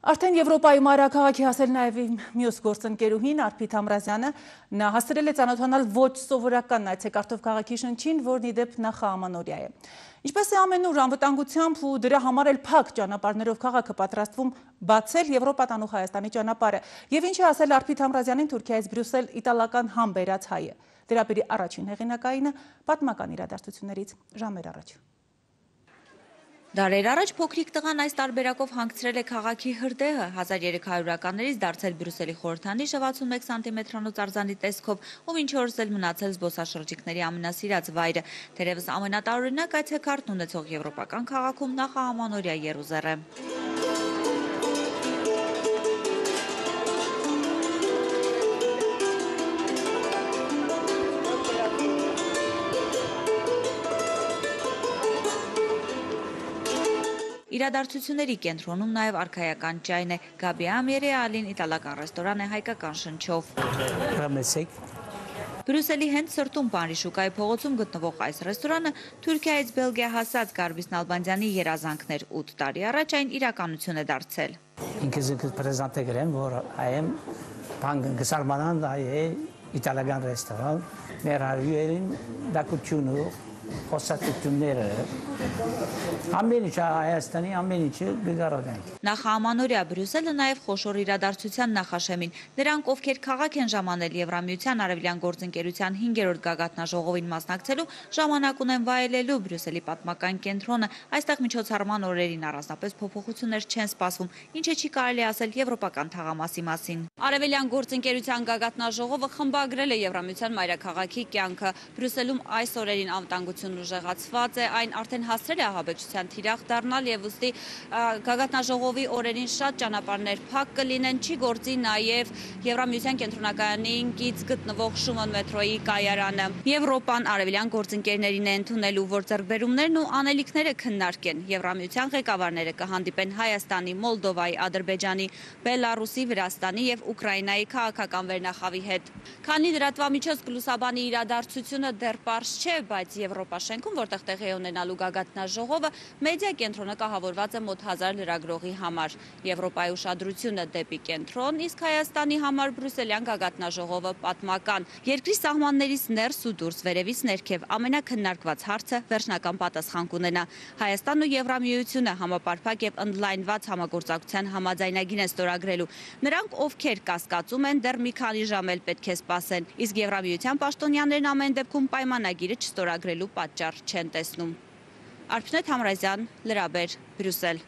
Արդեն Եվրոպայի մայրաքաղաքի հասել նաև մյուս գործընկերուհին Արփիտ Համրազյանը նա հասցրել է ծանոթանալ ոչ սովորական այցեքարտով քաղաքի շնչին, որն ի դեպ նախաամանորյա է։ Ինչպես է ամենուր անվտանգությամբ ու դրա համար էլ փակ ճանապարհներով քաղաքը պատրաստվում բացել Եվրոպա տանող Հայաստանի ճանապարհը, եւ ինչ է ասել Արփիտ Համրազյանին Թուրքիայից Բրյուսել իտալական համ բերած հայը։ Դրապերի առաջին հեղինակայինը պատմական իրադարձություններից ժամեր առաջ։ Դարեր առաջ փոքրիկ տղան այս տարբերակով հանգցրել է քաղաքի հրդեհը, 1300-ականներից դարձել Բրյուսելի խորհրդանիշը 61 սանտիմետրանոց արձանի տեսքով, ով ինչ օրս էլ մնացել զբոսաշրջիկների ամենասիրած վայրը, թերևս ամենատարօրինակ այցեքարտն ունեցող եվրոպական քաղաքում նախաամանորյա եռուզեռ է։ Իրադարձությունների կենտրոնում նաև արքայական ճայն է, Գաբիա Ամիերեալին իտալական ռեստորան է հայկական շնչով։ Բրյուսելի հենց սրտում Պանրիշուկայի փողոցում գտնվող այս ռեստորանը Թուրքիայից Բելգիա հասած Գարբիս Նալբանդյանի երազանքներ 8 տարի առաջ այն իրականություն է դարձել։ Ինքս պրեզանտե գրեմ, որ այեմ գսարմանան այ իտալական ռեստորան, մեր հարյուերին դակությունու խոսակցությունները ամեն ինչ Հայաստանի ամեն ինչը գարադան։ Նախաամանորյա Բրյուսելը նաև խոշոր իրադարձության նախաշեմին։ Նրանք, ովքեր քաղաք են ժամանել Եվրամիության արևելյան գործընկերության 5-րդ գագաթնաժողովին մասնակցելու, ժամանակ ունեն վայելելու Բրյուսելի պատմական կենտրոնը։ Այստեղ միջոցառման օրերին առանձնապես փոփոխություններ չեն սպասվում, ինչը չի կարելի ասել եվրոպական թաղամասի մասին։ Արևելյան գործընկերության գագաթնաժողովը խմբագրել է Եվրամիության մայրաքաղաքի կյանքը։ Բրյուսելում այս օրերին անվտանգությունն ուժեղացված է, այն արդեն հասցրել է ահաբեկչության թիրախ դառնալ եւ ուստի գագաթնաժողովի օրերին շատ ճանապարհներ փակ կլինեն, չի գործի նաեւ Եվրամիության կենտրոնակայանին կից գտնվող Շուման մետրոյի կայարանը։ Եվրոպան արևելյան գործընկերներին է ընդունելու, որ ձեռքբերումներն ու անելիքները քննարկեն։ Եվրամիության ղեկավարները կհանդիպեն Հայաստանի, Մոլդովայի, Ադրբեջանի, Բելարուսի, Վրաստանի եւ Ուկրաինայի քաղաքական վերնախավի հետ։ Քանի լրատվամիջոց կլուսաբանի իրադարձությունը դեռ պարզ չէ, բայց Եվրոպա շենքում, որտեղ տեղի է ունենալու գագաթնաժողովը, մեդիա կենտրոնը կահավորված է մոտ 1000 լրագրողի համար։ Եվրոպայի ուշադրությունը դեպի կենտրոն, իսկ Հայաստանի համար բրյուսելյան գագաթնաժողովը պատմական։ Երկրի սահմաններից ներս ու դուրս, վերևից ներքև ամենակննարկված հարցը վերջնական պատասխան կունենա։ Հայաստանն ու Եվրամիությունը համապարփակ եւ ընդլայնված համագործակցության համաձայնագիր են ստորագրելու։ Նրանք, ովքեր կասկածում են, դեռ մի քանի ժամ էլ պետք է սպասեն, իսկ Եվրամիության պաշտոնյաներն ամեն դեպքում պայմանագիրը չստորագրելու պատճառ չեն տեսնում։ Արփիտ Համրազյան, Լրաբեր, Բրյուսել։